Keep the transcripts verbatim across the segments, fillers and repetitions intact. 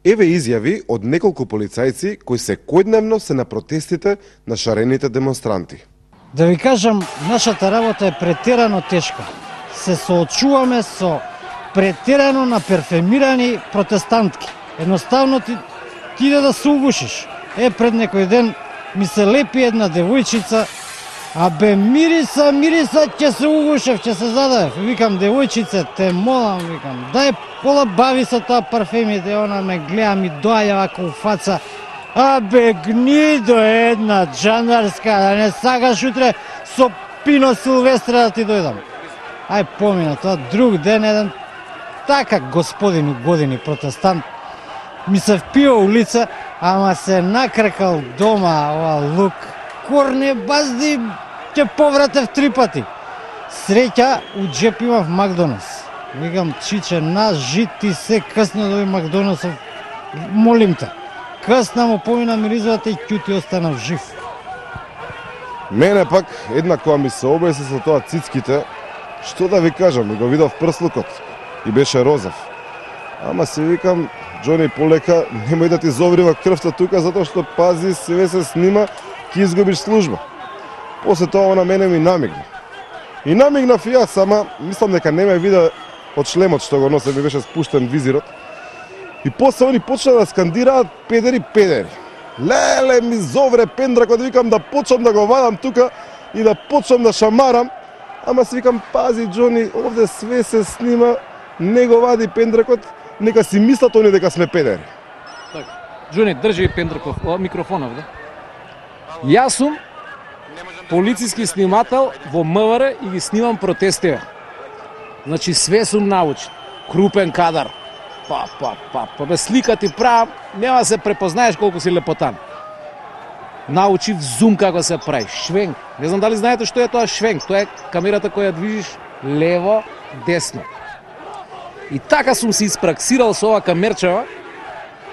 Еве изјави од неколку полицајци кои секојдневно се на протестите на шарените демонстранти. Да ви кажам, нашата работа е претерано тешка. Се соочуваме со претерано наперфемирани протестантки. Едноставно ти, ти иде да се угушиш. Е, пред некој ден ми се лепи една девојчица, а бе мириса, мириса, ќе се угушев, ќе се задавев. Викам, девојчице, те молам, викам, дај пола бави со тоа парфемите, она ме гледа, ми доаѓа вака у фаца. А бе гнидо една джандарска, да не сакаш утре со Пино Силвестре да ти дојдам. Ај помина тоа, друг ден еден така господин у години протестант ми се впива улица, ама се накркал дома ова лук. Корне базди, ќе повратев три пати. Среќа, у джеп имав Макдоналдс. Викам, чиче, на жит ти се късна доби Макдоналдсов. Молим те. Късна му помина миризовата и ќути останав жив. Мене пак една која ми се обеси со тоа цицките, што да ви кажам, го видов прслукот и беше розов. Ама си викам, Џони, полека, немој да ти зоврива крвта тука, затоа што пази, све се снима, ќе изгубиш служба. После тоа на мене ми намигна. И намигнав и јас, ама мислам дека не ме виде од шлемот што го носе, ми беше спуштен визирот. И после они почна да скандираат педери, педери. Леле, ми зовре пендракот, викам да почнам да го вадам тука и да почнам да шамарам. Ама си викам, пази, Џони, овде све се снима, не го вади пендракот, нека си мислат они дека сме педери. Така. Џони, држи пендраков, микрофонов, да? Јас сум полициски снимател во МВР и ги снимам протестите. Значи све сум научен. Крупен кадар. Па, па, па, па, бе слика ти правам, нема се препознаеш колку си лепотан. Научив зум како се прави, швенк. Не знам дали знаете што е тоа швенк, тоа е камерата која движиш лево, десно. И така сум се испраксирал со ова камерчева,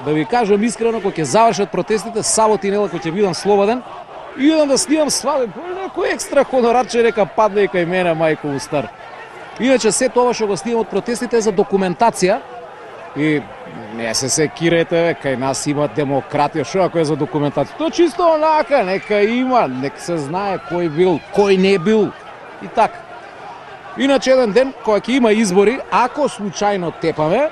да ви кажам искрено, кога ќе завршат протестите, сабота и недела кога ќе бидам слободен, и идам да снимам сваден, некој екстра хонорарче нека падне и кај мене, мајко стар. Иначе се тоа што го снимам од протестите е за документација. И не се секирете, бе, кај нас има демократија, шо ако е за документација? Тоа чисто онака, нека има, нека се знае кој бил, кој не бил и така. Иначе еден ден, кога ќе има избори, ако случајно тепаме,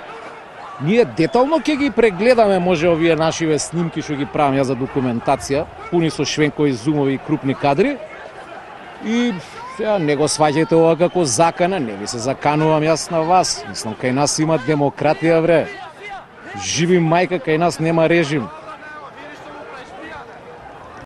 ние детално ќе ги прегледаме, може овие нашиве снимки што ги правам ја за документација, пуни со швенкови зумови и крупни кадри. И сега не го сваќајте ова како закана, не ви се заканувам јас на вас. Мислам, кај нас има демократија, бре. Живи мајка, кај нас нема режим.